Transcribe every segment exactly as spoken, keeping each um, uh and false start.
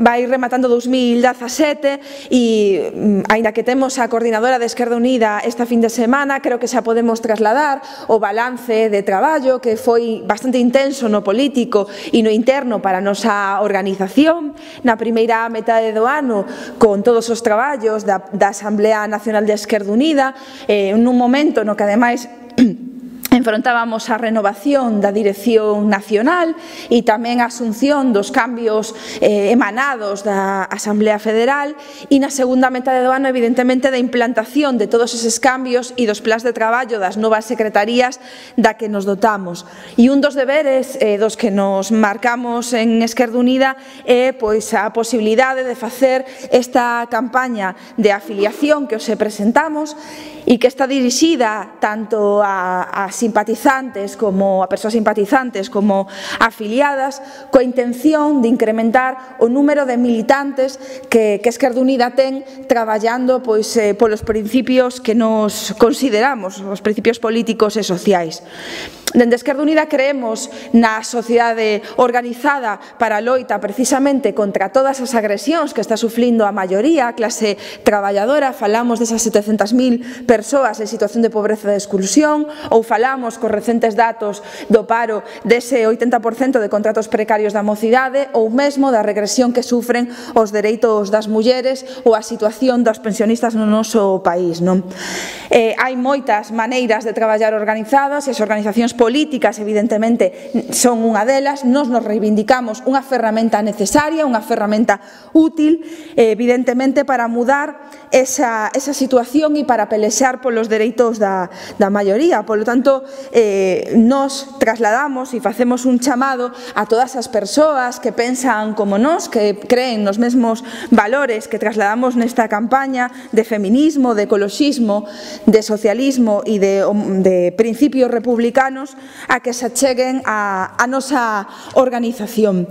vai rematando dous mil dezasete e, aínda que temos a coordinadora de Esquerda Unida esta fin de semana, creo que xa podemos trasladar o balance de traballo que foi bastante intenso no político e no interno para a nosa organización na primeira metade do ano, con todos os traballos da, da Asamblea Nacional de Esquerda Unida, eh, nun momento no que ademais enfrontábamos a renovación da dirección nacional e tamén a asunción dos cambios eh, emanados da Asamblea Federal e na segunda metade do ano, evidentemente, da implantación de todos eses cambios e dos plans de traballo das novas secretarías da que nos dotamos. E un dos deberes eh, dos que nos marcamos en Esquerda Unida é pois, a posibilidade de facer esta campaña de afiliación que os presentamos e que está dirixida tanto a, a simpatizantes como a persoas simpatizantes como afiliadas, coa intención de incrementar o número de militantes que, que Esquerda Unida ten traballando pois, eh, polos principios que nos consideramos, os principios políticos e sociais. Dende Esquerda Unida creemos na sociedade organizada para a loita precisamente contra todas as agresións que está sufrindo a maioría, a clase traballadora. Falamos desas setecentas mil persoas en situación de pobreza e de exclusión, ou falamos cos recentes datos do paro dese oitenta por cento de contratos precarios da mocidade, ou mesmo da regresión que sufren os dereitos das mulleres ou a situación dos pensionistas no noso país. Non? Eh, hai moitas maneiras de traballar organizadas e as organizacións políticas, evidentemente, son unha delas. Nos nos reivindicamos unha ferramenta necesaria, unha ferramenta útil, evidentemente, para mudar esa, esa situación e para pelexar polos dereitos da, da maioría. Polo tanto, eh, nos trasladamos e facemos un chamado a todas as persoas que pensan como nós, que creen nos mesmos valores que trasladamos nesta campaña de feminismo, de ecoloxismo, de socialismo e de, de principios republicanos, a que se acheguen a, a nosa organización.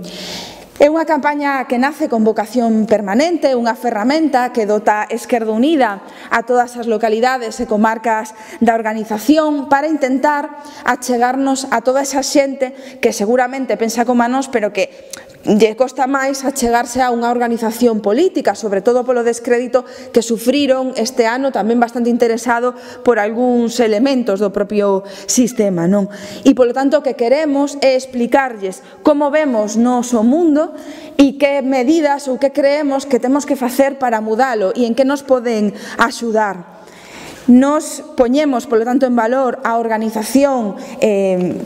É unha campaña que nace con vocación permanente, unha ferramenta que dota Esquerda Unida a todas as localidades e comarcas da organización para intentar achegarnos a toda esa xente que seguramente pensa como a nós, pero que lle costa máis achegarse a unha organización política, sobre todo polo descrédito que sufriron este ano, tamén bastante interesado por algúns elementos do propio sistema. Non? E, polo tanto, o que queremos é explicarlles como vemos nos o mundo e que medidas ou que creemos que temos que facer para mudalo e en que nos poden axudar. Nos poñemos, polo tanto, en valor a organización, eh,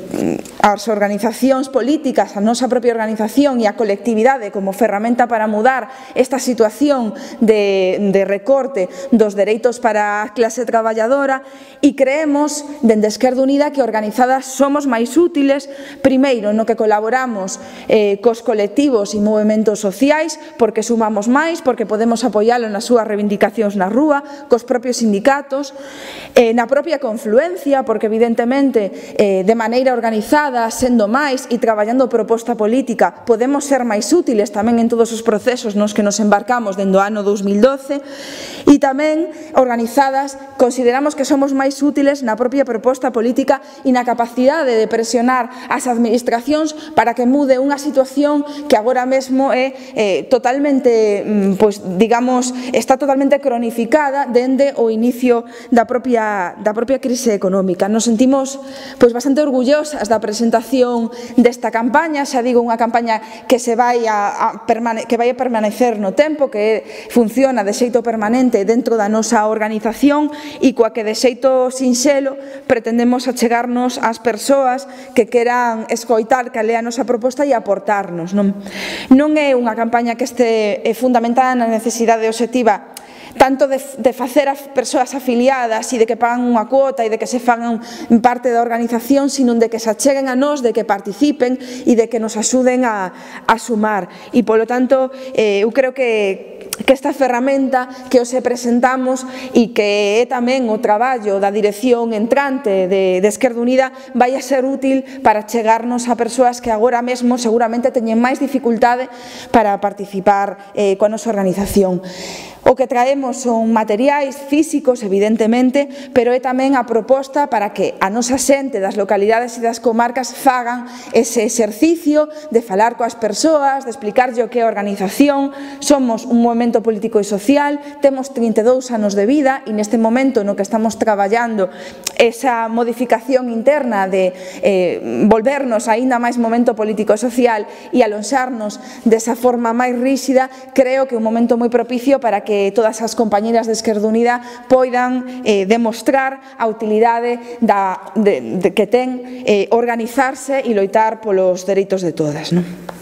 as organizacións políticas, a nosa propia organización e a colectividade como ferramenta para mudar esta situación de, de recorte dos dereitos para a clase traballadora e creemos, dende Esquerda Unida, que organizadas somos máis útiles, primeiro, no que colaboramos eh, cos colectivos e movementos sociais, porque sumamos máis, porque podemos apoialo nas súas reivindicacións na rúa, cos propios sindicatos, Eh, na propia confluencia, porque evidentemente eh, de maneira organizada, sendo máis e traballando proposta política, podemos ser máis útiles tamén en todos os procesos nos que nos embarcamos dende o ano dous mil doce, e tamén organizadas consideramos que somos máis útiles na propia proposta política e na capacidade de presionar as administracións para que mude unha situación que agora mesmo é eh, totalmente, pois, digamos, está totalmente cronificada dende o inicio da propia, da propia crise económica. Nos sentimos pois, bastante orgullosas da presentación desta campaña, xa digo, unha campaña que se vai a, a, permane que vai a permanecer no tempo, que funciona de xeito permanente dentro da nosa organización e coa que de xeito sinxelo pretendemos achegarnos ás persoas que queran escoitar que lea a nosa proposta e aportarnos. Non, non é unha campaña que este fundamentada na necesidade obxectiva tanto de, de facer as persoas afiliadas e de que pagan unha cuota e de que se fagan parte da organización, sino de que se acheguen a nós, de que participen e de que nos axuden a, a sumar. E, polo tanto, eh, eu creo que que esta ferramenta que os presentamos e que é tamén o traballo da dirección entrante de, de Esquerda Unida vai a ser útil para chegarnos a persoas que agora mesmo seguramente teñen máis dificultade para participar eh, coa nosa organización. O que traemos son materiais físicos, evidentemente, pero é tamén a proposta para que a nosa xente das localidades e das comarcas fagan ese exercicio de falar coas persoas, de explicarlle o que é a organización. Somos un movimento político e social, temos trinta e dous anos de vida e neste momento no que estamos traballando esa modificación interna de eh, volvernos aínda máis momento político e social e alonxarnos desa forma máis ríxida, creo que é un momento moi propicio para que todas as compañeras de Esquerda Unida poidan eh, demostrar a utilidade da, de, de que ten eh, organizarse e loitar polos dereitos de todas, non?